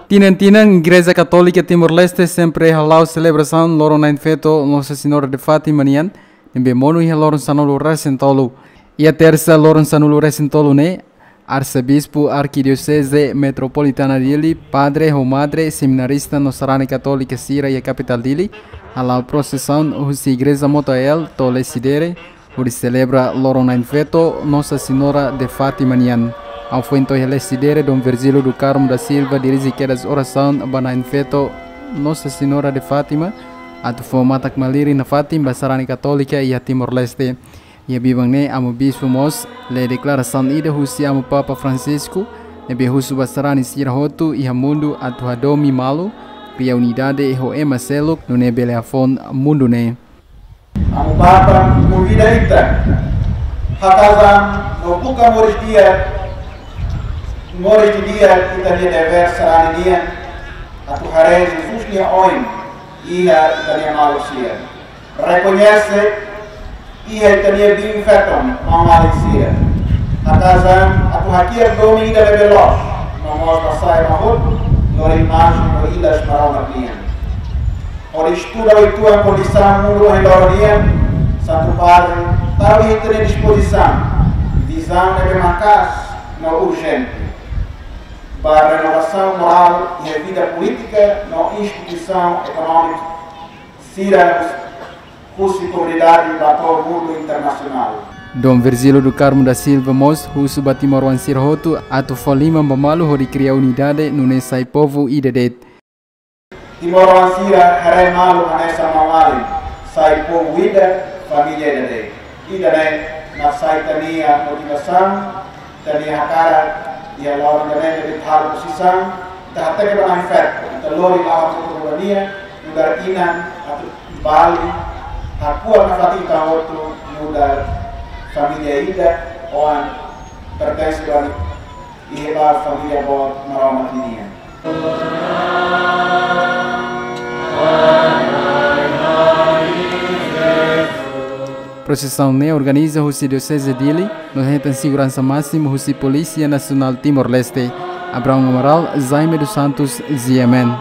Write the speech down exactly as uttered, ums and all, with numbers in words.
Tinan-tinan, Igreja Katólika Timor-Leste sempre hala'o selebrasaun loron na'in-feto Nossa Senhora de Fátima nian, ne'ebé monu iha loron sanulu-resin-tolu. Iha tersa loron sanulu-resin-tolu ne'e, Arsebispu Arkidioseze Metropolitana Dili, padre ho madre, seminarista no sarani katólika sira iha kapitál Dili, hala'o prosesaun husi Igreja Motael to'o Lecidere, hodi selebra loron na'in-feto Nossa Senhora de Fátima nian. Ha'u foin to'o iha Lecidere, Dom Virgílio do Carmo da Silva dirije kedas orasaun ba na'in-feto Nossa Senhora de Fátima, atu fó matak-malirin nafatin ba sarani katólika iha Timor-Leste. Iha biban ne'e Amu Bispu mós lee deklarasaun ida husi Amu Papa Francisco, ne'ebé husu ba sarani sira hotu iha mundu atu hadomi malu, kria unidade ho ema seluk, nune'e bele hafoun mundu ne'e. Amu Papa konvida ita haka'as an no buka moris di'ak, moris didi'ak ita-nia devér sarani nian, atu haree Jesus nia oin iha ita-nia maluk sira. Rekoñese iha ita-nia biin-feton, maun-alin sira. Haka'as an atu hakiak domin ida ne'ebé loos, no mós ba sai ema hotu, lori imajen no ilas Maromak nian. Hodi estuda uitoan kondisaun mundu ohin loron nian, Santu Padre tau iha ita-nia dispozisaun vizaun ne'ebé maka'as no urjente ba renovasaun morál iha vida polítika no instituisaun ekonómika sira husi komunidade ba to'o mundu internasionál. Dom Virgílio do Carmo da Silva mós husu ba timoroan sira hotu atu fó liman ba malu hodi kria unidade nune'e sai povu ida de'it. Timoroan sira haree malu hanesan maun-alin, sai povu ida, família ida de'it. Ida-ne'e mak sai ita-nia motivasaun, ita-nia hakarak iha loron ida-ne'e ne'ebé ita halo posisaun, ita hateke ba na'in-feto, ita lori la'o hatudu ba nia, nu'udar inan atu bali, hakuak nafatin ita hotu nu'udar família ida, oan pertense ba, iha ba família boot Maromak nian. Prosesaun ne'e organiza husi Dioseze Dili, no hetan seguransa másimu husi Polísia Nasionál Timor-Leste. Abraão Amaral, Jaime dos Santos, G M N.